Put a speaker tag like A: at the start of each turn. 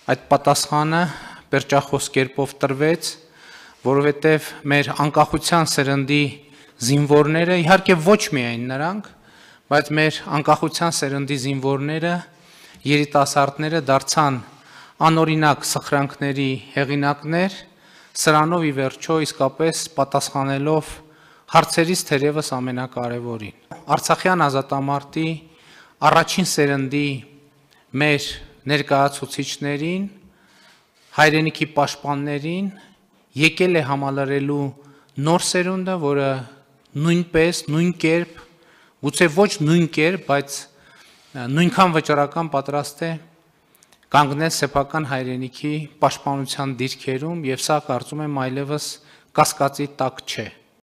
A: այդ պատասխանը պերճախոս կերպով տրվեց, որովհետև մեր անկախության սերնդի զինվորները, իհարկե ոչ միայն նրանք, բայց մեր անկախության սերնդի զինվորները, երիտասարդները դարձան անօրինակ սխրանքների հեղինակներ, սրանով ի վերջո իսկապես պատասխանելով հարցերից թերևս ամենակարևորին։ Արցախյան ազատամարտի առաջին սերնդի մեր ներկայացուցիչներին, հայրենիքի պաշտպաններին եկել է համալրելու նոր սերունդը, որը նույնպես, նույն կերպ, գուցե ոչ նույն կերպ, բայց նույնքան վճռական պատրաստ է կանգնել սեփական հայրենիքի պաշտպանության դիրքերում, եւ սա կարծում եմ այլևս կասկածի տակ չէ։